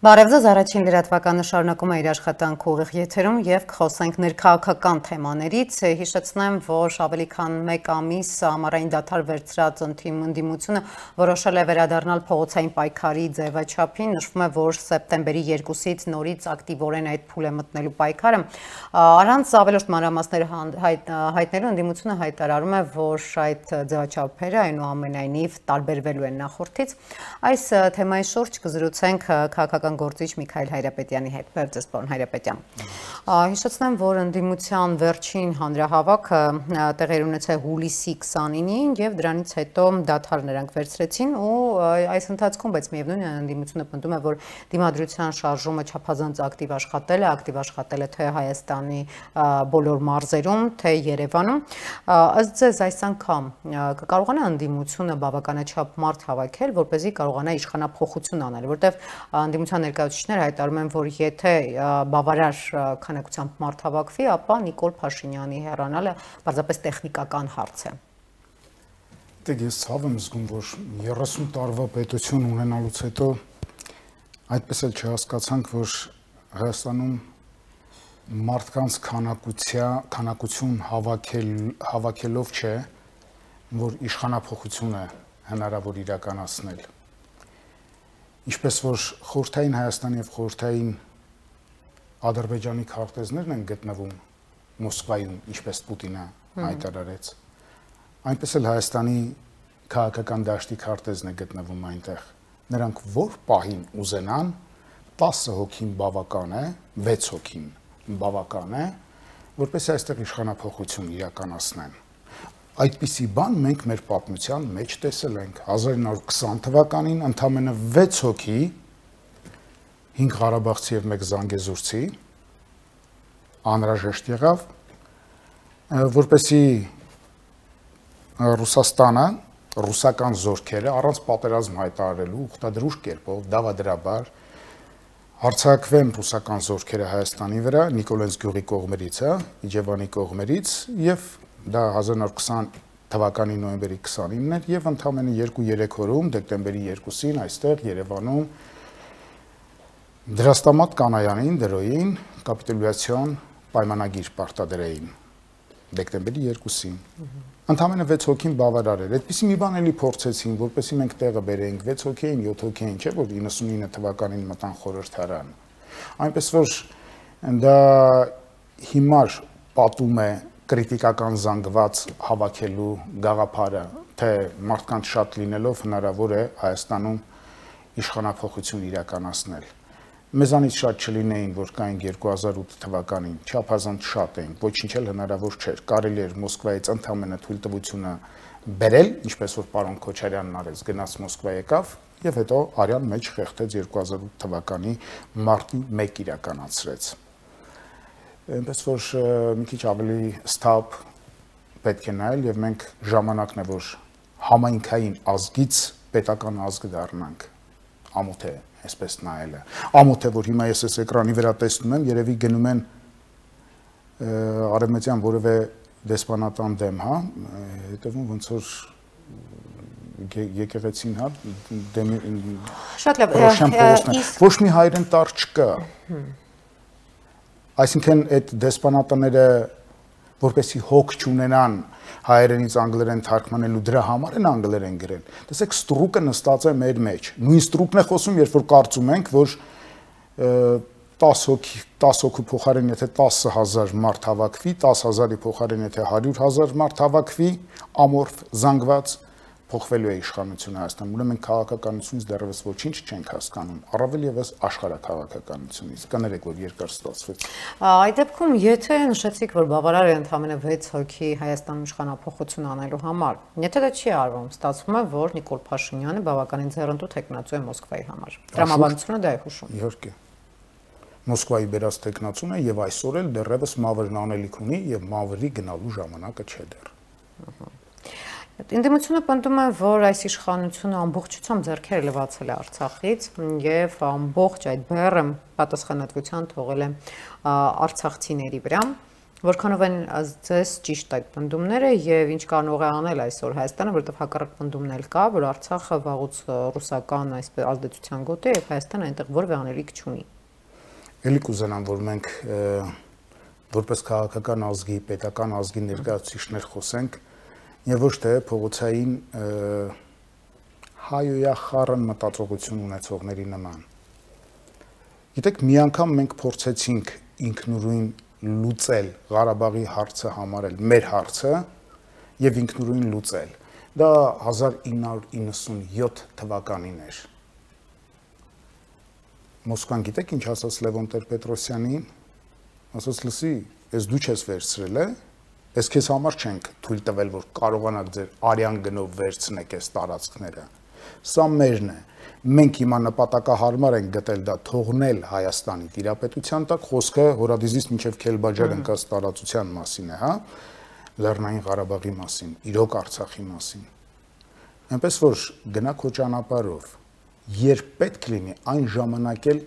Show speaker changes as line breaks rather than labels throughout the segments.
Բարև ձեզ, առաջին լրատվականը շարունակում է իր աշխատանքը ուղիղ եթերում եւ կխոսենք ներքաղաքական թեմաներից։ Հիշեցնեմ, որ ավելի քան 1 ամիս ամառային դադար վերցրած ընդդիմությունը որոշել է վերադառնալ փողոցային պայքարի ձևաչափին։ Նշվում է, որ սեպտեմբերի 2-ից նորից ակտիվորեն այդ փուլ է մտնելու պայքարը։ Առանց ավելորդ մանրամասներ հայտնելու ընդդիմությունը հայտարարում է, որ այդ ձևաչափերը այնուամենայնիվ տարբերվելու են նախորդից։ Այս թեմայի շուրջ կզրուցենք քաղաքական գործիչ Միքայել Հայրապետյանի հետ։ Բարև ձեզ, պարոն Հայրապետյան։ Հիշեցնեմ, որ ընդդիմության վերջին հանրահավաքը տեղի ունեցավ հուլիսի 29-ին եւ դրանից հետո դադար նրանք վերցրեցին ու այս ընթացքում, բայց միևնույն է ընդդիմությունը պնդում է, որ դիմադրության շարժումը չափազանց ակտիվ աշխատել է թե Հայաստանի բոլոր մարզերում, թե Երևանում։ Ըստ ձեզ այս անգամ կկարողանա ընդդիմությունը բավականաչափ մարդ հավաքել, որպեսզի կարողանա իշխանափոխություն անել, որտեղ ընդդիմության ներկայացուցիչները հայտարարում են, որ եթե բավարար քանակությամբ մարդ հավաքվի, ապա Նիկոլ Փաշինյանի հեռանալը պարզապես տեխնիկական հարց է։
Ես ցավ եմ զգում, որ 30 տարվա պետություն ունենալուց հետո այդպես էլ չհասկացանք, որ Հայաստանում մարդկանց քանակություն հավաքելով չէ, որ իշխանափոխություն է հնարավոր իրականացնել։ Ինչպես որ խորհրդային Հայաստանի եւ խորհրդային Ադրբեջանի քարտեզներն են գտնվում Մոսկվայում, ինչպես Պուտինը հայտարարեց, այնպես էլ Հայաստանի քաղաքական դաշտի քարտեզն է գտնվում այնտեղ։ Նրանք որ պահին ուզենան 10 հոգին բավական է, 6 հոգին բավական է, որպես այստեղ իշխանափոխություն իրականացնեն։ Այդպիսի բան մենք մեր պատմության մեջ տեսել ենք 1920 թվականին ընդամենը 6 հոգի 5 Ղարաբաղցի եւ 1 Զանգեզուրցի անհրաժեշտ եղավ, որպեսի Ռուսաստանը ռուսական զորքերը առանց պատերազմ հայտարարելու ուխտադրուժ կերպով դավադրաբար հարձակվեն ռուսական զորքերը Հայաստանի վրա Նիկոլենց գյուղի կողմերից, Իջևանի կողմերից եւ դա 1920 թվականի նոյեմբերի 29-ն էր եւ ընդամենը 2-3 օրում դեկտեմբերի 2-ին այստեղ Երևանում դրաստամատ կանայանին դրոյին կապիտուլյացիոն պայմանագիր պարտադրեին դեկտեմբերի 2-ին։ Ընդամենը 6 հոգին բավարար էր։ Այդպիսի մի բան էլի փորձեցին, որպեսզի մենք տեղը բերեինք 6 հոգին, 7 հոգին, չէ՞ որ 99 թվականին մտան խորհրդարան։ Այնպես որ դա հիմար պատում է կրիտիկական զանգված հավաքելու գաղափարը, թե մարդկանց շատ լինելով հնարավոր է Հայաստանում իշխանափոխություն իրականացնել։ Մեզանից շատ չլինեին, որ կային 2008 թվականին, չափազանց շատ էին, ոչինչ էլ հնարավոր չէր։ Կարելի էր Մոսկվայից ընդամենը թույլտվությունը բերել, ինչպես որ պարոն Քոչարյանն արեց, գնաց Մոսկվա եկավ եւ հետո արյան մեջ խեղդեց 2008 թվականի մարտի 1 իրականացրեց։ Այնպես որ մի քիչ ավելի ստապ պետք է նայել եւ մենք ժամանակն է, որ համայնքային ազգից պետական ազգ դառնանք։ Ամոթ է այսպես նայելը։ Ամոթ է, որ հիմա ես այս էկրանի վրա տեսնում եմ, երևի գնում են արևմտյան որևէ դեսպանատան դեմ, հա, հետևում ոնց որ եկեղեցին, հա, դեմ
շատ լավ,
ոչ մի հայրեն տար չկա։ Այսինքն այդ դեսպանատները որպեսի հոգ չունենան հայերենից անգլերեն թարգմանելու դրա համար են անգլերեն գրել։ Տեսեք, ստրուկը նստած է մեր մեջ։ Նույն ստրուկն է խոսում, երբ որ կարծում ենք, որ 10 հոգու փոխարեն եթե 10,000 մարդ հավաքվի, 10,000-ի փոխարեն եթե 100,000 մարդ հավաքվի, ամորֆ զանգված փոխվելու է իշխանությունը Հայաստանում։ Ուրեմն քաղաքականությունից դեռևս ոչինչ չենք հասկանում, առավել եւս աշխարհաքաղաքականությունից։ Կներեք, որ երկար ստացվեց։
Այդ դեպքում, եթե նշեցիք, որ բավարար է ընդամենը 6 հոգի Հայաստանում իշխանափոխություն անելու համար, եթե դա չի արվում, ստացվում է, որ Նիկոլ Փաշինյանը բավականին ձեռնտու թեկնածու է Մոսկվայի համար։ Տրամաբանությունը դա է հուշում։
Իհարկե։ Մոսկվայի բերած թեկնածուն է եւ այսօր էլ դեռևս մավրն անելիք ունի եւ մավրի գնալու ժամանակը չէ դեռ։
Ընդդիմությունը պնդում է, որ այս իշխանությունը ամբողջությամբ ձեռքերը լվացել է Արցախից եւ ամբողջ այդ բեռը պատասխանատվության թողել է արցախցիների վրա։ Որքանով են ձեզ ճիշտ այդ պնդումները եւ ինչ կարող է անել այսօր Հայաստանը, որովհետեւ հակառակ պնդումն էլ կա, որ Արցախը վաղուց ռուսական այսպես ազդեցության գոտ է եւ Հայաստանը այնտեղ որևէ անելիք չունի։ Էլի
կուզենամ, որ մենք որպես քաղաքական ազգի, պետական ազգի ներկայացուցիչներ խոսենք եւ ոչ թե փողոցային հայոյախառն մտածողություն ունեցողների նման։ Գիտեք, մի անգամ մենք փորձեցինք ինքնուրույն լուծել Ղարաբաղի հարցը համարել մեր հարցը եւ ինքնուրույն լուծել։ Դա 1997 թվականին էր։ Մոսկվան գիտեք ինչ ասաց Լևոն Տեր-Պետրոսյանին, ասաց լսի, ես դու չես վերցրել է, ես քեզ համար չենք թույլ տվել, որ կարողանաք ձեր արյան գնով վերցնեք այս տարածքները։ Սա մերն է։ Մենք հիմա նպատակահարմար ենք գտել դա թողնել Հայաստանի տիրապետության տակ, խոսքը Հորադիզից մինչև Քելբաջար ընկած տարածության մասին է, հա, Լեռնային Ղարաբաղի մասին, իրոք Արցախի մասին։ Այնպես որ գնա քո ճանապարհով, երբ պետք լինի, այն ժամանակ էլ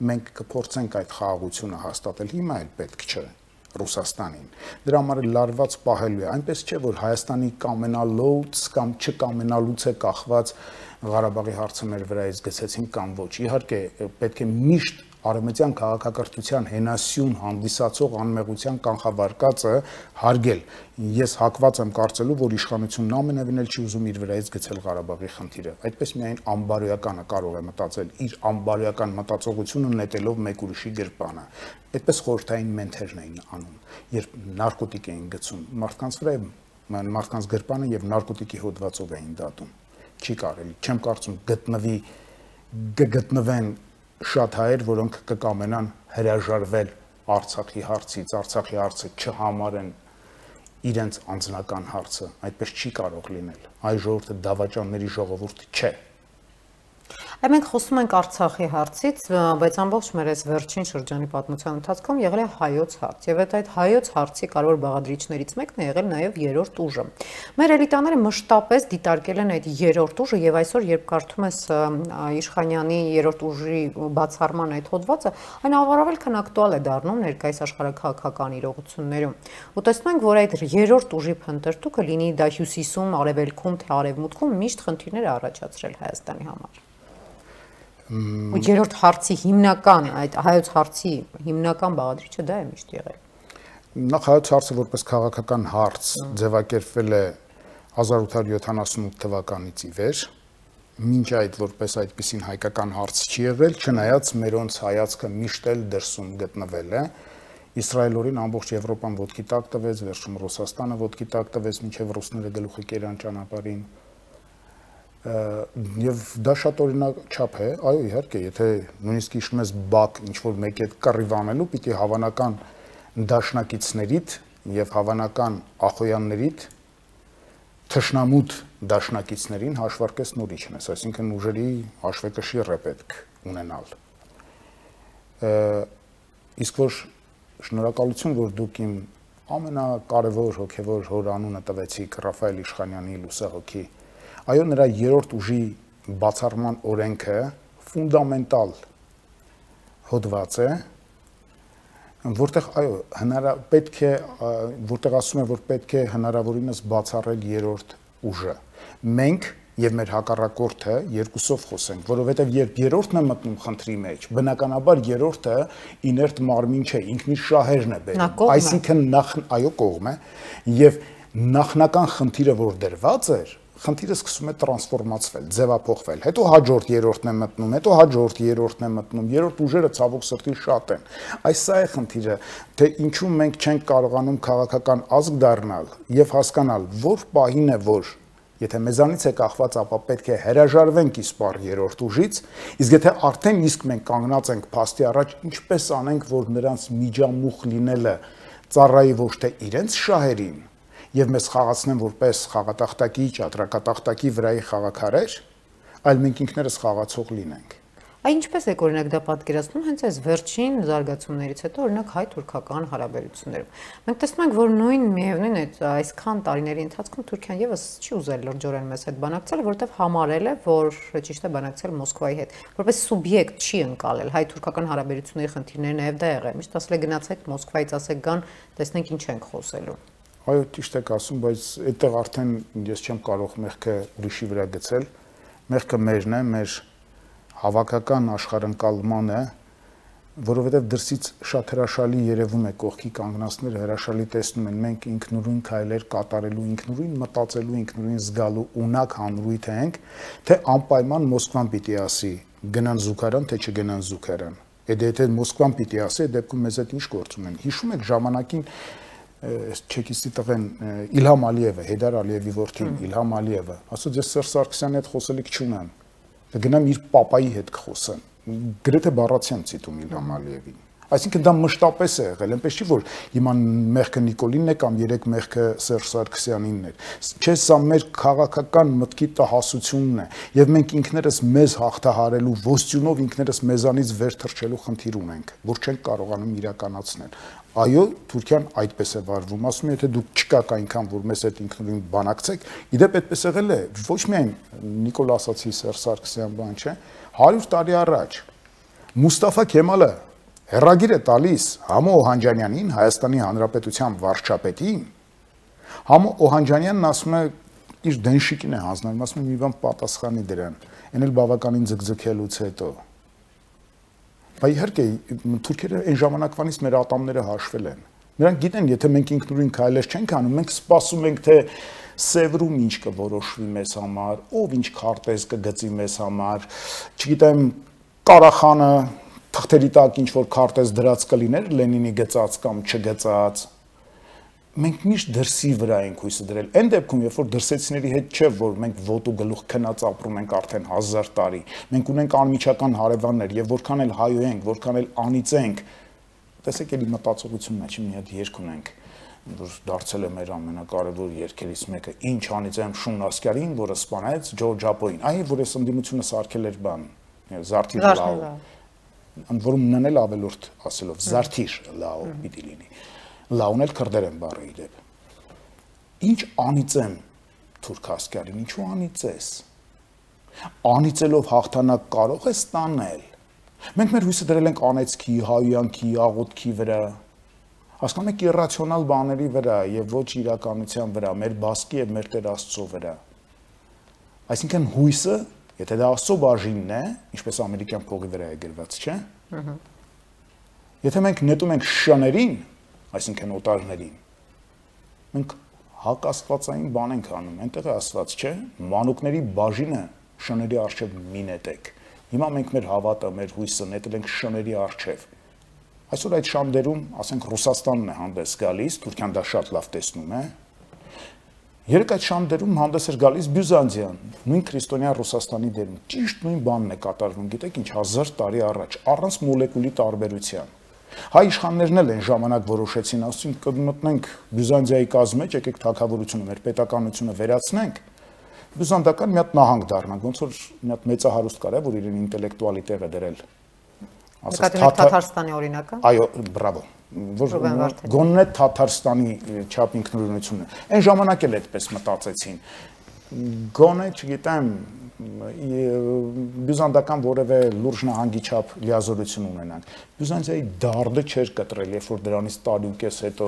մենք կփորձենք այդ խաղաղությունը հաստատել, հիմա էլ պետք չէ Ռուսաստանին։ Դրա համար լարված պահելու է, այնպես չէ, որ Հայաստանի կամենալուց կամ չկամենալուց է կախված Ղարաբաղի հարցը մեր վրայից գցեցին կամ ոչ։ Իհարկե, պետք է միշտ արևմտյան քաղաքակրթության հենասյուն հանդիսացող անմեղության կանխավարկածը հարգել։ Ես հակված եմ կարծելու, որ իշխանությունն ամենևին էլ չի ուզում իր վրայից գցել Ղարաբաղի խնդիրը։ Այդպես միայն անբարոյականը կարող է մտածել, իր անբարոյական մտածողությունը նետելով մեկ ուրիշի գրպանը։ Այդպես խորհրդային մենթերն էին անում, երբ նարկոտիկ էին գցում մարդկանց վրա, մարդկանց գրպանը եւ նարկոտիկի հոդվածով էին դատում։ Չի կարելի, չեմ կարծում գտնվեն շատ հայեր, որոնք կկամենան հրաժարվել Արցախի հարցից, Արցախի հարցը չհամարեն իրենց անձնական հարցը, այդպես չի կարող լինել։ Այ ժողովուրդը դավաճանների ժողովուրդ չէ։
Այ մենք խոսում ենք Արցախի հարցից, բայց ամբողջ մեր այս վերջին շրջանի պատմության ընթացքում եղել է հայոց հարց, եւ այդ հայոց հարցի կարևոր բաղադրիչներից մեկն է եղել նաեւ երրորդ ուժը։ Մեր էլիտաները մշտապես դիտարկել են այդ երրորդ ուժը, եւ այսօր երբ կարդում ես Իշխանյանի երրորդ ուժի բացառման այդ հոդվածը, այն առավել քան ակտուալ է դառնում ներկայիս աշխարհաքաղաքական իրողություններում։ Ու տեսնում ենք, որ այդ երրորդ ուժի փնտրտուքը լինի դա հյուսիսում, արևելքում, թե արևմուտքում միշտ խնդիրներ է առաջացրել Հայաստանի համար։ Ու երրորդ հարցի հիմնական, այդ հայոց հարցի հիմնական բաղադրիչը դա է միշտ եղել։
Նախ հայոց հարցը որպես քաղաքական հարց ձևակերպվել է 1878 թվականից ի վեր, մինչ այդ որպես այդպիսին հայկական հարց չի եղել, չնայած մերոնց հայացքը միշտ էլ դրսում գտնվել է։ Իսրայելորին ամբողջ Եվրոպան ոտքի տակ տվեց, վերջում Ռուսաստանը ոտքի տակ տվեց, մինչև ռուսները գլուխը կերան ճանապարհին։ Եվ դա շատ օրինակ չափ է, այո, իհարկե, եթե նույնիսկ հիշում ես Բաք ինչ-որ մեկ այդ կռիվ անելու, պիտի հավանական դաշնակիցներիդ եւ հավանական ախոյաններիդ թշնամուտ դաշնակիցներին հաշվարկես նորիչն ես, այսինքն ուժերի հաշվեկշիռ է պետք ունենալ։ Իսկ որ շնորհակալություն, որ դուք իմ ամենակարևոր հոգեվոր հոր անունը տվեցիք Ռաֆայել Իշխանյանի լուսահոգի։ Այո, նրա երրորդ ուժի բացառման օրենքը ֆունդամենտալ հոդված է, որտեղ այո, պետք է, որտեղ ասում է, որ պետք է հնարավորինս բացառել երրորդ ուժը։ Մենք եւ մեր հակառակորդը երկուսով խոսենք, որովհետեւ երբ երրորդն է մտնում խնդրի մեջ, բնականաբար երրորդը իներտ մարմին չէ, ինքնին շահերն է բերում, այսինքն այո, կողմ է, եւ նախնական խնդիրը, որ դրված էր, խնդիրը սկսում է տրանսֆորմացվել, ձևափոխվել, հետո հաջորդ երրորդն է մտնում, հետո հաջորդ երրորդն է մտնում, երրորդ ուժերը ցավոք սրտի շատ են։ Այս սա է խնդիրը, թե ինչու մենք չենք կարողանում քաղաքական ազգ դառնալ եւ հասկանալ, որ պահին է, որ եթե մեզանից է կախված, ապա պետք է հրաժարվենք իսպառ երրորդ ուժից, իսկ եթե արդեն իսկ մենք կանգնած ենք փաստի առաջ, ինչպես անենք, որ նրանց միջամուխ լինելը ծառայի ոչ թե իրենց շահերին, եւ մեզ խաղացնեն որպես խաղատախտակի, ճատրակատախտակի վրայի խաղաքարեր, այլ մենք ինքներս խաղացող լինենք։
Ինչպես եք օրինակ դա պատկերացնում հենց այս վերջին զարգացումներից հետո օրինակ հայ-թուրքական հարաբերություններում։ Մենք տեսնում ենք, որ նույն միևնույն այդ այսքան տարիների ընթացքում Թուրքիան եւս չի ուզել լրջորեն մեզ հետ բանակցել, որովհետեւ համարել է, որ ճիշտ է բանակցել Մոսկվայի հետ, որպես սուբյեկտ չի ընկալել հայ-թուրքական հարաբերությունների խնդիրները նաեւ դա եղել է։ Միշտ ասել է գնացեք Մոսկվայից ասեք գան, տեսնենք ինչ ենք խոսելու։
Այո, ճիշտ եք ասում, բայց այդտեղ արդեն ես չեմ կարող մեղքը ուրիշի վրա գցել։ Մեղքը մերն է, մեր հավաքական աշխարհընկալմանը, որովհետև դրսից շատ հրաշալի երևում է կողքի կանգնածները հրաշալի տեսնում են, մենք ինքնուրույն քայլեր կատարելու, ինքնուրույն մտածելու, ինքնուրույն զգալու ունակ հանրույթ ենք, թե անպայման Մոսկվան պիտի ասի գնան զուգարան, թե չգնան զուգարան։ Եթե Մոսկվան պիտի ասի, այդ դեպքում մեզ հետ ինչ գործ ունեն։ Հիշում եք ժամանակին չեկիստի տղեն Իլհամ Ալիևը, Հեյդար Ալիևի որդին Իլհամ Ալիևը, ասաց ես Սերժ Սարգսյանի հետ խոսելիք չունեմ, գնամ իր պապայի հետ կխոսեմ, գրեթե բառացիան ցիտում Իլհամ Ալիևին։ Այսինքն դա մշտապես է եղել, այնպես չի որ հիմա մեղքը Նիկոլինն է կամ երեք մեղքը Սերժ Սարգսյանինն էր։ Չէ, սա մեր քաղաքական մտքի տհասությունն է, եւ մենք ինքներս մեզ հաղթահարելու ոստյունով ինքներս մեզանից վեր թռչելու խնդիր ունենք, որ չենք կարողանում իրականացնել։ Այո, Թուրքիան այդպես է վարվում, ասում է, եթե դուք չկաք այնքան, որ մեզ հետ ինքնուրույն բանակցեք, իդեպ այդպես եղել է, ոչ միայն Նիկոլ ասացի Սերժ Սարգսյան բան չէ, 100 տարի առաջ Մուստաֆա Քեմալը հերագիր է տալիս Համո Օհանջանյանին, Հայաստանի Հանրապետության վարչապետին, Համո Օհանջանյանն ասում է իր դենշիկին է հանձնարարում, ասում է մի բան պատասխանի դրան, այն էլ բավականին ձգձգելուց հետո։ Բայց իհարկե թուրքերը այն ժամանակվանից մեր ատամները հաշվել են։ Նրանք գիտեն, եթե մենք ինքնուրույն քայլեր չենք անում, մենք սպասում ենք, թե Սևրում ինչ կորոշվի մեզ համար, ով ինչ քարտեզ կգծի մեզ համար, չգիտեմ, Ղարախանը թղթերի տակ ինչ որ քարտեզ դրած կլիներ Լենինի գծած կամ չգծած։ Մենք միշտ դրսի վրա ենք հույսը դրել։ Այն դեպքում, երբ որ դրսեցիների հետ չէ, որ մենք ոտու գլուխ քնած ապրում ենք արդեն 1000 տարի, մենք ունենք անմիջական հարևաններ եւ որքան էլ հայ ենք, որքան էլ անիծ ենք, տեսեք էլի մտածողությունն է, չի մի հատ երգ ունենք, որ դարձել է մեր ամենակարևոր երգերից մեկը, ինչ անիծ եմ Շուն Ասկարին, որը սպանեց Ջորջ Ապոյին, այ որ այս ընդդիմությունը սարքել էր բան, Զարթիր լավ, ընդ որում ննել ավելորդ ասելով, Զարթիր լավ պիտի լինի։ Լաուն էլ քրդերեն բառը իդեպ։ Ինչ անիծ եմ Թուրք Ասկարին, ինչու անիծ ես։ Անիծելով հաղթանակ կարող ես ստանել։ Մենք մեր հույսը դրել ենք անեծքի, հայյանքի, աղոթքի վրա։ Հասկանում եք իռացիոնալ բաների վրա եւ ոչ իրականության վրա, մեր բասկի եւ մեր Տեր Աստծո վրա։ Այսինքն հույսը, եթե դա Աստծո բաժինն է, ինչպես ամերիկյան փողի վրա է գրված, չէ՞։ Եթե մենք նետում ենք շներին, այսինքն օտարներին, մենք հակաստվածային բան ենք անում, այնտեղ է ասված, չէ, մանուկների բաժինը շների առջև մի նետեք։ Հիմա մենք մեր հավատը, մեր հույսը նետել ենք շների առջև։ Այսօր այդ շանդերում, ասենք Ռուսաստանն է հանդես գալիս, Թուրքիան դա շատ լավ տեսնում է։ Երեք այդ շանդերում հանդես էր գալիս Բյուզանդիան, նույն քրիստոնյա Ռուսաստանի դերում, ճիշտ նույն բանն է կատարվում, գիտեք ինչ, 1000 տարի առաջ, առանց մոլեկուլի տարբերության։ Հայ իշխաններն էլ են ժամանակ որոշեցին, ասում կմտնենք Բյուզանդիայի կազմ մեջ, եկեք թագավորությունը, մեր պետականությունը վերացնենք, բյուզանդական մի հատ նահանգ դառնանք, ոնց որ մի հատ մեծահարուստ կար, որ իրեն ինտելեկտուալի տեղ է դրել։
Ասած Թաթարստանի օրինակը։
Այո, բրավո։ Որ գոնե Թաթարստանի չափ ինքնուրույնությունը։ Այն ժամանակ էլ այդպես մտածեցին։ Գոնե, չգիտեմ, բյուզանդական որևէ լուրջ նահանգի չափ լիազորություն ունենանք։ Բյուզանդիայի դարդը չէր կտրել, երբ որ դրանից տարուկես հետո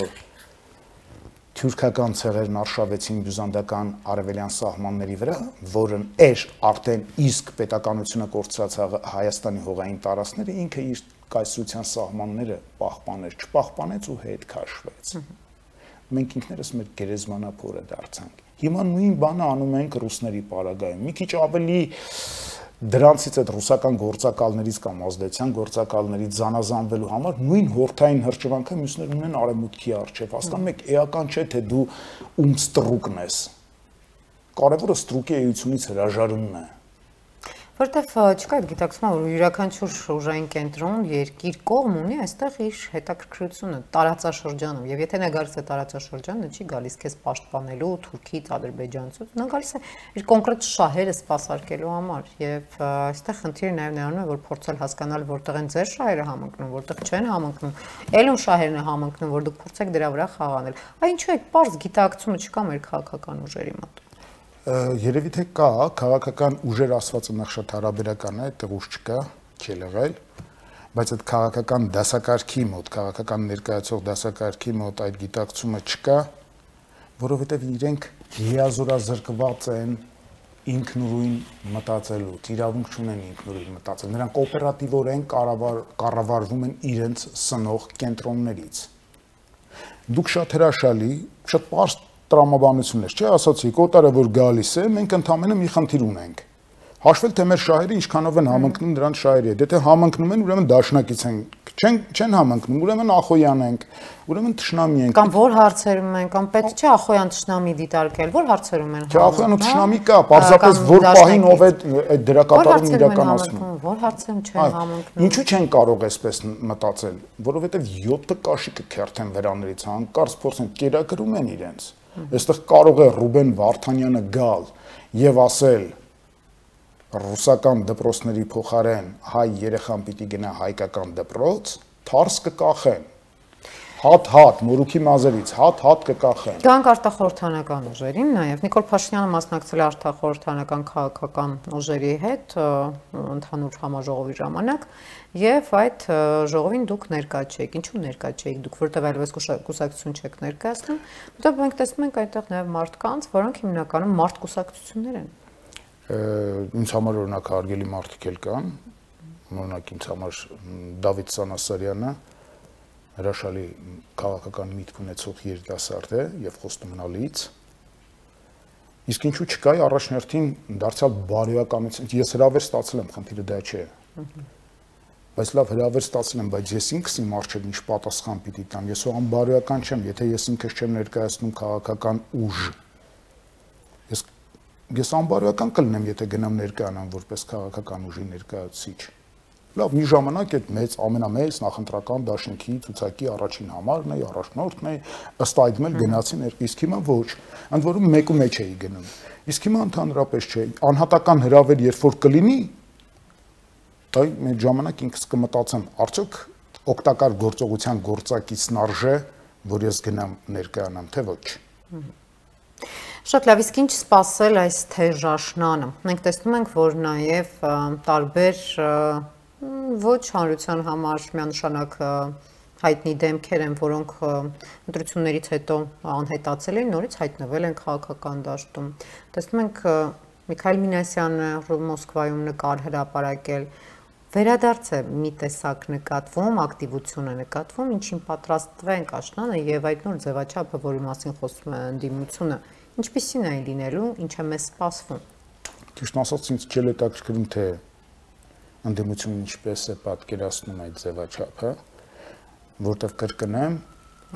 թյուրքական ցեղերն արշավեցին բյուզանդական արևելյան սահմանների վրա, որն էր արդեն իսկ պետականությունը կորցրած Հայաստանի հողային տարածքները, ինքը իր կայսրության սահմանները պահպաներ, չպահպանեց ու հետ քաշվեց։ Մենք ինքներս մեր գերեզմանափորը դարձանք։ Հիմա նույն բանը անում ենք ռուսների պարագայում։ Մի քիչ ավելի դրանցից այդ ռուսական գործակալներից կամ ազդեցության գործակալներից զանազանվելու համար նույն հորթային հրճվանքը մյուսներն ունեն արևմուտքի առջև։ Հասկանում եք, էական չէ թե դու ում ստրուկն ես։ Կարևորը ստրուկի էությունից հրաժարումն է։
Որտեվ չկա այդ գիտակցումը, որ յուրաքանչյուր ուժային կենտրոն, երկիր, կողմ ունի այստեղ իր հետաքրքրությունը տարածաշրջանում, եւ եթե նա գալիս է տարածաշրջանը, չի գալիս քեզ պաշտպանելու Թուրքից, Ադրբեջանցից, նա գալիս է իր կոնկրետ շահերը սպասարկելու համար, եւ այստեղ խնդիրը նաեւ նրանում է, որ փորձել հասկանալ որտեղ են ձեր շահերը համընկնում, որտեղ չեն համընկնում, ելուն շահերն է համընկնում, որ դուք փորձեք դրա վրա խաղանել։ Ինչու է պարզ գիտակցումը չկա մեր քաղաքական ուժերի մոտ։
Երևի թե կա, քաղաքական ուժեր ասվածը նախ շատ հարաբերական է, այդտեղ ուժ չկա, չի եղել, բայց այդ քաղաքական դասակարգի մոտ, քաղաքական ներկայացող դասակարգի մոտ այդ գիտակցումը չկա, որովհետև իրենք լիազորազրկված են ինքնուրույն մտածելուց, իրավունք չունեն ինքնուրույն մտածել, նրանք օպերատիվորեն կառավարվում են իրենց սնող կենտրոններից։ Դուք շատ հրաշալի, շատ պարզ տրամաբանություններ, չէ, ասացիք, օտարը որ գալիս է, մենք ընդհանրապես մի խնդիր ունենք։ Հաշվել թե մեր շահերը ինչքանով են համընկնում նրանց շահերի հետ։ Եթե համընկնում են, ուրեմն դաշնակից են, չեն համընկնում, ուրեմն ախոյան ենք, ուրեմն թշնամի ենք։
Կամ որ հարցերում են, կամ պետք չէ ախոյան թշնամի դիտարկել, որ հարցերում են։
Չէ, ախոյան ու թշնամի կա, պարզապես որ պահին ով է այդ դերակատարում իրականացնում։
Որ հարցերում չեն համընկնում։
Ինչու չեն կարող այսպես մտածել, որովհետև 7 կաշիկը քերթեն վրաներից, հանկարծ փորձեն կերակրում են իրենց։ Այստեղ կարող է Ռուբեն Վարդանյանը գալ եւ ասել ռուսական դպրոցների փոխարեն հայ երեխան պիտի գնա հայկական դպրոց, թարս կկախեն։ Հատ մորուքի մազերից հատ կկախեն։
Գանք արտախորհրդանական ուժերին, նաև Նիկոլ Փաշինյանը մասնակցել է արտախորհրդանական քաղաքական ուժերի հետ ընդհանուր համաժողովի ժամանակ, եւ այդ ժողովին դուք ներկա չեք։ Ինչու ներկա չեք դուք, որտեղ այլևս կուսակցություն չեք ներկայացնում, որտեղ մենք տեսնում ենք այդտեղ նաև մարդկանց, որոնք հիմնականում մարդկուսակցություններ են։
Ինձ համար օրինակ հարգելի մարդիկ էլ կան, օրինակ ինձ համար Դավիթ Սանասարյանը հրաշալի քաղաքական միտք ունեցող երիտասարդ է եւ խոստում ունալից։ Իսկ ինչու չկա առաջնորդին դարձյալ բարոյականություն։ Ես հրավեր ստացել եմ, խնդիրը դա չէ։ Բայց լավ հրավեր ստացել եմ, բայց ես ինքս իմ առջև ինչ պատասխան պիտի տամ։ Ես ո՞ղամ բարոյական չեմ, եթե ես ինքս չեմ ներկայացնում քաղաքական ուժ։ Ես անբարոյական կլինեմ, եթե գնամ ներկայանամ որպես քաղաքական ուժի ներկայացուցիչ։ Լավ, մի ժամանակ այդ մեծ ամենամեծ նախընտրական դաշինքի ցուցակի առաջին համարն է, առաջնորդն է, ըստ այդմ էլ գնացի ներկա, իսկ հիմա ոչ, ընդ որում մեկու մեջ էի գնում։ Իսկ հիմա ընդհանրապես չէ, անհատական հրավեր երբ որ կլինի, այ մեր ժամանակ ինքս կմտածեմ, արդյոք օգտակար գործողության գործակիցն արժե, որ ես գնամ ներկայանամ, թե ոչ։
Շատ լավ, իսկ ինչ սպասել այս թեժաշնանը։ Մենք տեսնում ենք, որ նաև տարբեր ոչ հանրության համար միանշանակ հայտնի դեմքեր են, որոնք ընտրություններից հետո անհետացել են, նորից հայտնվել են քաղաքական դաշտում։ Տեսնում ենք Միքայել Մինասյանը Մոսկվայում նկար հրապարակել, վերադարձ է մի տեսակ նկատվում, ակտիվություն է նկատվում, ինչին պատրաստվենք աշնանը եւ այդ նոր ձևաչափը, որի մասին խոսում է ընդդիմությունը, ինչպիսին է լինելու, ինչ է մեզ սպասվում։
Ճիշտ ասած, ինձ չէ հետաքրքրում, թե ընդդիմությունը ինչպես է պատկերացնում այդ ձևաչափը, որտեղ կրկնեմ,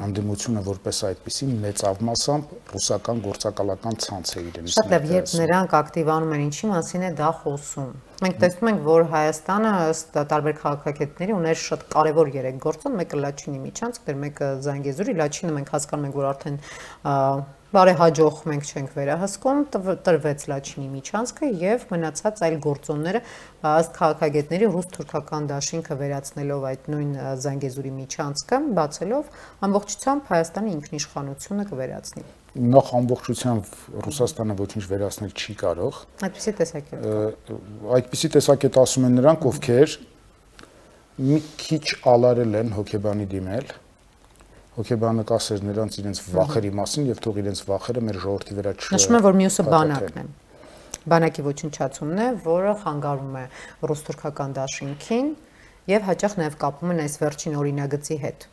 ընդդիմությունը որպես այդպիսի մեծավ մասամբ ռուսական գործակալական ցանց է իրենից։
Շատ լավ, երբ նրանք ակտիվանում են, ինչի մասին է դա խոսում։ Մենք տեսնում ենք, որ Հայաստանը ըստ տարբեր քաղաքագետների ուներ շատ կարևոր 3 գործոն, մեկը Լաչինի միջանցք, մեկը Զանգեզուրի, Լաչինը մենք հասկանում ենք, որ արդեն բարեհաջող մենք չենք վերահսկում, տրվեց Լաչինի միջանցքը եւ մնացած այլ գործոնները ըստ քաղաքագետների ռուս-թուրքական դաշինքը վերացնելով այդ նույն Զանգեզուրի միջանցքը, բացելով ամբողջությամբ Հայաստանի ինքնիշխանությունը կվերացնի։
Նախ ամբողջությամբ Ռուսաստանը ոչինչ վերացնել չի կարող։
Այդպիսի տեսակետ։
Այդպիսի տեսակետ ասում են նրանք, ովքեր մի քիչ ալարել են հոգեբանի դիմել։ Հոգեբանը կասեր նրանց իրենց վախերի մասին եւ թող իրենց վախերը մեր ժողովրդի վրա չհանձնեն։
Նշում է, որ մյուսը բանակն է։ Բանակի ոչնչացումն է, որը խանգարում է ռուս-թուրքական դաշինքին եւ հաճախ նաեւ կապում են այս վերջին օրինագծի հետ։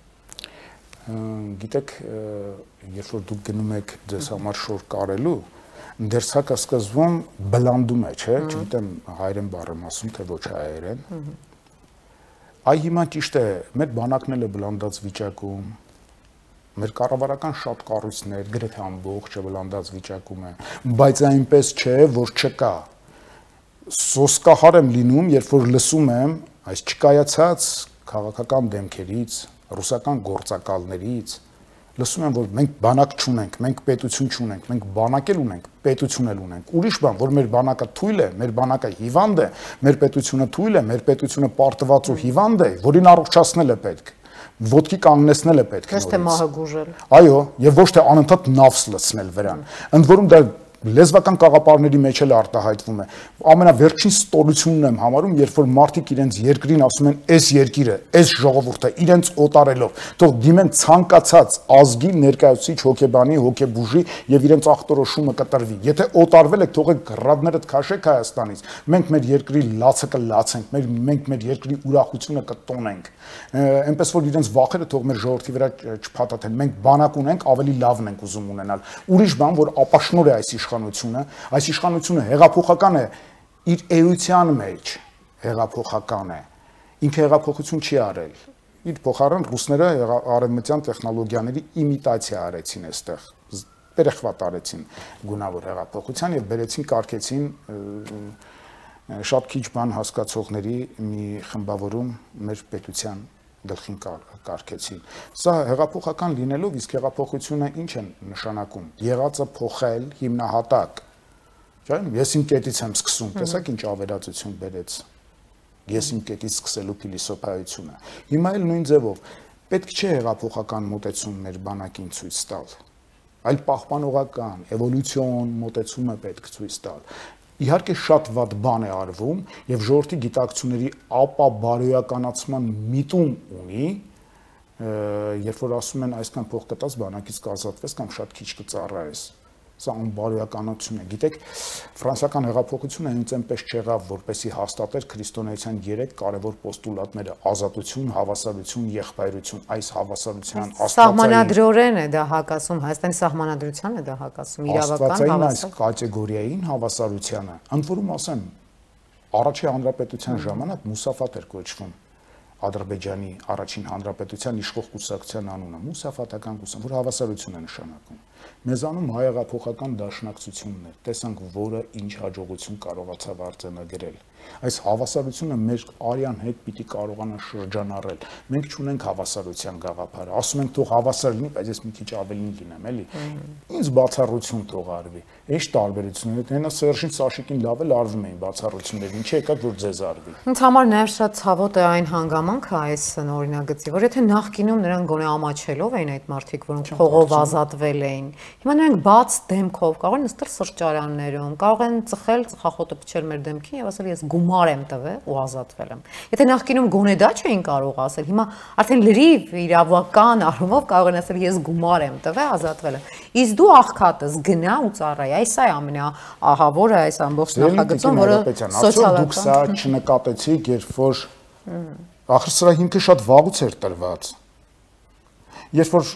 Գիտեք, երբ որ դուք գնում եք ձեզ համար շոր կարելու, դերձակը սկզբում բլանդում է, չէ՞, չգիտեմ հայերեն բառ եմ ասում, թե ոչ հայերեն։ Այ հիմա ճիշտ է, մեր բանակն էլ է բլանդած վիճակում, մեր կառավարական շատ կառույցներ գրեթե ամբողջը բլանդած վիճակում է, բայց այնպես չէ, որ չկա։ սոսկահար եմ լինում, երբ որ լսում եմ այս չկայացած քաղաքական դեմքերից, ռուսական գործակալներից, լսում եմ, որ մենք բանակ չունենք, մենք պետություն չունենք, մենք բանակ էլ ունենք, պետություն էլ ունենք։ Ուրիշ բան, որ մեր բանակը թույլ է, մեր բանակը հիվանդ է, մեր պետությունը թույլ է, մեր պետությունը պարտված ու հիվանդ է, որին առողջացնել է պետք, ոտքի կանգնեցնել է պետք։
Ոչ թե մահը գուժել։
Այո, եւ ոչ թե անընդհատ նավս լցնել վրան։ Ընդ որում դա լեզվական կաղապարների մեջ էլ արտահայտվում է։ Ամենավերջին ստորությունն եմ համարում, երբ որ մարդիկ իրենց երկրին ասում են, «Էս երկիրը, էս ժողովուրդը», իրենց օտարելով, թող դիմեն ցանկացած ազգի ներկայացուցիչ հոգեբանի, հոգեբուժի եւ իրենց ախտորոշումը կտրվի։ Եթե օտարվել եք, թողեք գրադներդ քաշեք Հայաստանից։ Մենք մեր երկրի լացը կլացենք, մենք մեր երկրի ուրախությունը կտոնենք։ Այնպես որ իրենց վախերը թող մեր ժողովրդի վրա չփաթաթեն։ Մենք բանակ ունենք, ավելի լավն ենք ուզում ունենալ։ Ուրիշ բան, որ ապաշնոր է այս այս իշխանությունը հեղափոխական է իր էության մեջ, հեղափոխական է, ինքը հեղափոխություն չի արել, իր փոխարեն ռուսները արևմտյան տեխնոլոգիաների իմիտացիա արեցին այստեղ, երեխվատ արեցին գունավոր հեղափոխության եւ բերեցին կարգեցին շատ քիչ բան հասկացողների մի խմբավորում մեր պետության գլխին կարգեցին։ Սա հեղափոխական լինելով, իսկ հեղափոխությունը ինչ է նշանակում։ Եղածը փոխել հիմնահատակ։ Ես իմ կետից եմ սկսում, տեսեք ինչ ավերածություն բերեց։ Ես իմ կետից սկսելու փիլիսոփայությունը։ Հիմա էլ նույն ձևով պետք չէ հեղափոխական մոտեցում մեր բանակին ցույց տալ, այլ պահպանողական, էվոլյուցիոն մոտեցումը պետք ցույց տալ։ Իհարկե շատ վատ բան է արվում եւ ժողովրդի գիտակցությունների ապաբարոյականացման միտում ունի, երբ որ ասում են այսքան փող կտած բանակից կազատվես կամ շատ քիչ կծառայես։ Սա անբարոյականություն է։ Գիտեք, ֆրանսիական հեղափոխությունը հենց այնպես չեղավ, որպեսզի հաստատեր քրիստոնեության 3 կարևոր պոստուլատները՝ ազատություն, հավասարություն, եղբայրություն։ Այս հավասարության
սահմանադրորեն է դա հակասում, Հայաստանի սահմանադրության է դա հակասում, իրավական
այս կատեգորիային հավասարությանը։ Ընդ որում ասեմ, առաջի հանրապետության ժամանակ Մուսաֆատ էր կոչվում Ադրբեջանի առաջին հանրապետության իշխող կուսակցության անունը, Մուսաֆատական կուսակցություն, որ հավասարություն է նշանակում։ Մեզանում հայեղափոխական դաշնակցությունն էր, տեսանք, որը ինչ հաջողություն կարողացավ արձանագրել։ Այս հավասարությունը մեր արյան հետ պիտի կարողանա շրջանառել։ Մենք չունենք հավասարության գաղափարը։ Ասում ենք թող հավասար լինի, բայց ես մի քիչ ավելին լինեմ, էլի։ Ինձ բացառություն թող արվի։ Ինչ տարբերություններ է, հենա Սերժին Սաշիկին լավ էլ արվում էին բացառություններ, ինչի եկավ որ ձեզ արվի։
Ինձ համար նաև շատ ցավոտ է այն հանգամանքը այս օրինագծի, որ եթե նախկինում նրանք գոնե ամաչելով էին այդ մարդիկ, որոնք փողով ազատվել էին, հիմա նրանք բաց դեմքով կարող են նստել սրճարաններում, կարող են ծխել, ծխախոտը փչել մեր դեմքին եւ ասել ես գումար եմ տվել ու ազատվել եմ։ Եթե նախկինում գոնե դա չէին կարող ասել, հիմա արդեն լրիվ իրավական առումով կարող են ասել ես գումար եմ տվել, ազատվել եմ։ Իսկ դու աղքատս գնա ու ծառայ, այս է ամենաահավորը այս ամբողջ նախագծում, որը սոցիալական։
Դուք սա չնկատեցիք, երբ որ ախր սրա հիմքը շատ վաղուց էր տրված։ Երբ որ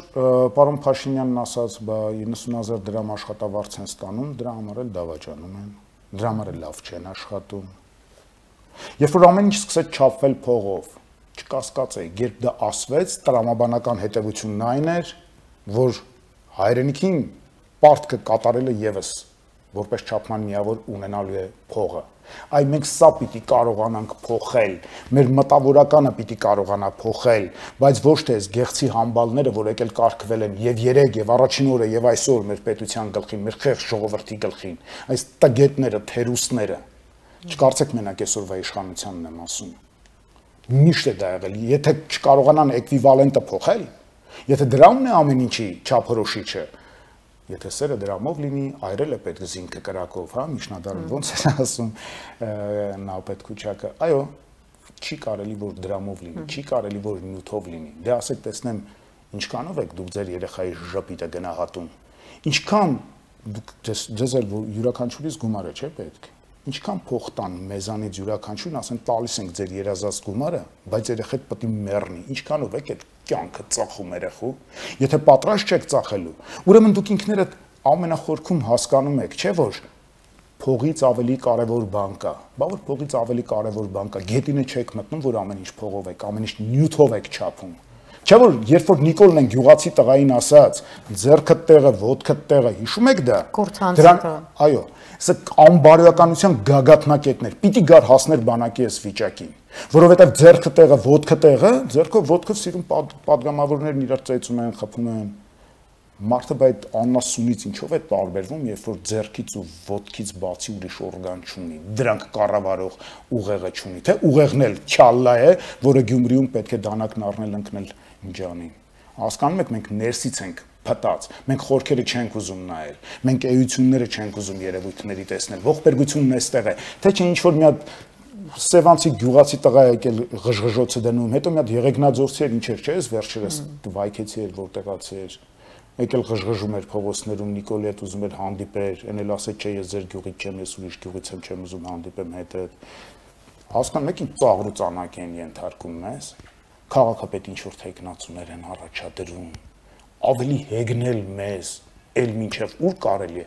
պարոն Փաշինյանն ասաց, բա 90,000 դրամ աշխատավարձ են ստանում, դրա համար էլ դավաճանում են, դրա համար էլ լավ չեն աշխատում։ Երբ որ ամեն ինչ սկսեց չափվել փողով, չկասկածեի, երբ դա ասվեց, տրամաբանական հետևությունն այն էր, որ հայրենիքին պարտքը կատարելը եւս որպես չափման միավոր ունենալու է փողը։ Այ մենք սա պիտի կարողանանք փոխել, մեր մտավորականը պիտի կարողանա փոխել, բայց ոչ թե այս գեղցի համբալները, որ եկել կարգվել են եւ երեք եւ առաջին օրը եւ այսօր մեր պետության գլխին, մեր խեղճ ժողովրդի գլխին, այս տգետները, թերուստները։ Չկարծեք մենակ այսօրվա իշխանությանն եմ ասում։ Միշտ է դա եղել, եթե չկարողանան էկվիվալենտը փոխել, եթե դրանն է ամեն ինչի չափորոշիչը, եթե սերը դրամով լինի, այրել է պետք զինքը կրակով, հա, միջնադարում ոնց է ասում Նապետ Քուչակը։ Այո, չի կարելի որ դրամով լինի, չի կարելի որ նյութով լինի։ Դե ասեք, տեսնեմ, ինչքանով եք դուք ձեր երեխայի ժպիտը գնահատում։ Ինչքան դուք ձեզ էլ յուրաքանչյուրից գումարը չէ պետք։ Ինչքան փող տան մեզանից յուրաքանչյուրն ասեն տալիս ենք ձեր երազած գումարը, բայց երեխեք պետք է մեռնի։ Ինչքանով եք այդ կյանքը ծախում երեխու։ Եթե պատրաստ չեք ծախելու, ուրեմն դուք ինքներդ ամենախորքում հասկանում եք, չէ՞ որ փողից ավելի կարևոր բան կա։ Բա որ փողից ավելի կարևոր բան կա, գետինը չեք մտնում, որ ամեն ինչ փողով եք, ամեն ինչ նյութով եք չափում։ Չէ՞ որ երբ որ Նիկոլն են գյուղացի տղային ասաց, ձեռքդ տեղը, ոտքդ տեղը, հիշում եք դա։ Այո, սա անբարոյականության գագաթնակետներ։ Պիտի գար հասներ բանակի այս վիճակին, որովհետև ձեռքը տեղը, ոտքը տեղը, ձեռքով ոտքով սիրուն падգամավորներն իրար ծեծում են, խփում են։ Մարդը այդ անասունից ինչով է տարբերվում, երբ որ ձեռքից ու ոտքից բացի ուրիշ օրգան չունի, դրանք կառավարող ուղեղը չունի, թե ուղեղն էլ չալլա է, որը Գյումրիում պետք է դանակն առնել ընկնել Ինջանին։ Հասկանում եք, մենք ներսից ենք փտած, մենք խորքերը չենք ուզում նայել, մենք էությունները չենք ուզում երևույթների տեսնել, ողբերգությունն էստեղ է, թե չէ ինչ որ մի հատ Սևանցի գյուղացի տղա եկել ղժղժոցը դնում, հետո մի հատ եղեգնաձորցի էր, ինչ էր, չէ՞, վերջերս վայքեցի էր, որտեղացի էր, եկել ղժղժում էր փողոցներում, Նիկոլի հետ ուզում էր հանդիպեր, էնել ասել չէ, ես ձեր գյուղից չեմ, ես ուրիշ գյուղից եմ, չեմ ուզում հանդիպեմ հետդ։ Հասկանում եք, ինչ ծաղրու ծանակ են ենթարկում մեզ, քաղաքապետ ինչ որ թեկնածուներ են առաջադրում, ավելի հեգնել մեզ, էլ մինչև ուր կարելի է։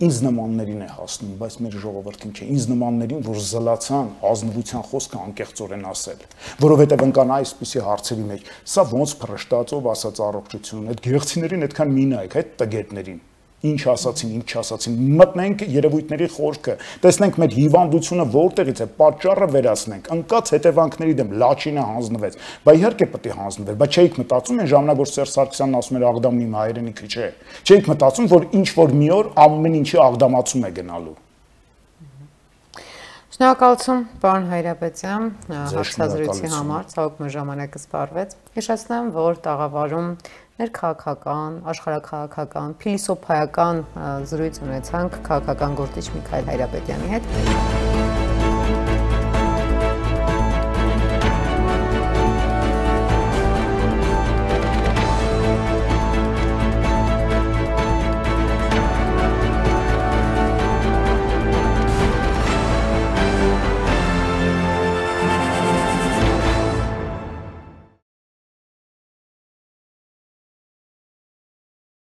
Ինձ նմաններին է հասնում, բայց մեր ժողովրդին չէ, ինձ նմաններին, որ զլացան ազնվության խոսքը անկեղծորեն ասել, որովհետև ընկան այսպիսի հարցերի մեջ, սա ոնց փռշտացով ասած առողջություն, այդ գեղցիներին այդքան մի նայեք, այդ տգետներին, ինչ ասացին, ինչ չասացին, մտնենք երևույթների խորքը, տեսնենք մեր հիվանդությունը որտեղից է, պատճառը վերացնենք, ընկած հետևանքների դեմ լաչինը հանձնվեց, բա իհարկե պետք է հանձնվեր, բայց չէիք մտածում այն ժամանակ, որ Սերժ Սարգսյանն ասում էր Աղդամն իմ հայրենիքը չէ, չէիք մտածում, որ ինչ որ մի օր ամեն ինչի աղդամացում է գնալու։
Շնորհակալություն, պարոն Հայրապետյան, հարցազրույցի համար, ցավոք մեր ժամանակը սպառվեց։ Հիշեցնեմ, որ տաղավարում ներքաղաքական, աշխարհաքաղաքական, փիլիսոփայական զրույց ունեցանք քաղաքական գործիչ Միքայել Հայրապետյանի հետ։